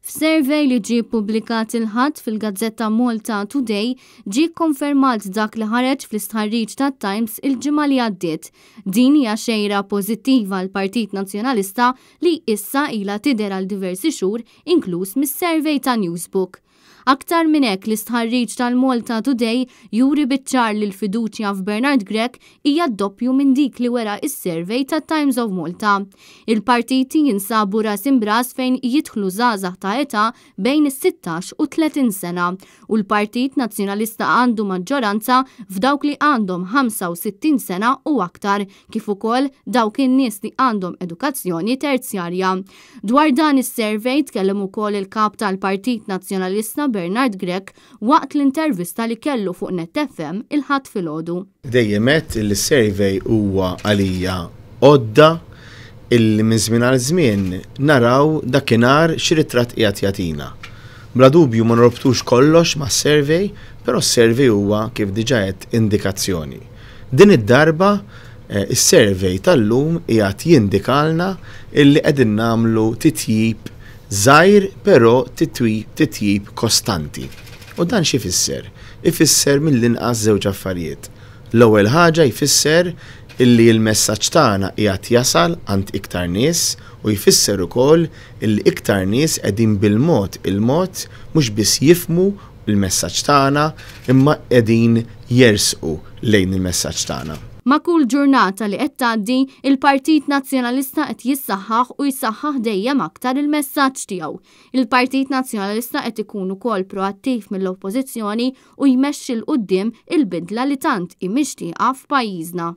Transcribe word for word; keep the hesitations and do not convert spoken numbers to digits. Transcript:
F'survey li ġie ppubblikat il-Ħadd fil-gazzetta Malta Today ġie kkonfermat dak li ħareġ fl-istħarriġ tat-Times il-ġimgħa li għaddiet. Din hija xejra pożittiva għall-Partit Nazzjonalista li issa ilha tidher għal diversi xhur, inkluż mis-survey ta' Newsbook. Aktar minn hekk, l-istħarriġ tal-Malta Today juri biċ-ċar li l-fiduċja f'Bernard Grech hija doppju minn dik li wera is-survey ta' Times of Malta. Il-partiti jinsabu ras imb'ras fejn jidħlu żgħażagħ ta' età bejn is-sittax u tletin sena u l-Partit Nazzjonalista għandu maġġoranza f'dawk li għandhom ħamsa u sittin sena u aktar, kif ukoll dawk in-nies li għandhom edukazzjoni terzjarja. Dwar dan is-survey tkellem ukoll il-kap tal-Partit Nazzjonalista Bernard Grech waqt l-intervista li kellu fuq Net F M il-Ħadd filgħodu. Dejjem għedt li survey huwa għalija għodda illi minn żmien għal żmien naraw dakinhar xi ritratt qiegħed jagħtina. Bla dubju ma norbtux kollox ma' survey, però survey huwa, kif diġà għedt, indikazzjoni. Din id-darba eh, is-survey tal-lum qiegħed jindikalna illi qegħdin nagħmlu titjib żgħir, però titjib kostanti. U dan xi jfisser? Ifisser mill-inqas żewġ affarijiet. L-ewwel ħaġa, jfisser illi l-messaġġ tagħna qiegħed jasal għand iktar nies u jfisser ukoll illi iktar nies qegħdin bil-mod il-mod mhux biss jifhmu il-messaġġ tagħna, imma qegħdin jersqu lejn il-messaġġ tagħna. Ma' kull ġurnata li qed tgħaddi, il-Partit Nazzjonalista qed jissaħħaħ u jsaħħaħ dejjem aktar il-messaġġ tiegħu. Il-Partit Nazzjonalista qed ikun ukoll proattiv mill-Oppożizzjoni u jmexxi 'l quddiem il-bidla li tant hi mixtieqa f'pajjiżna.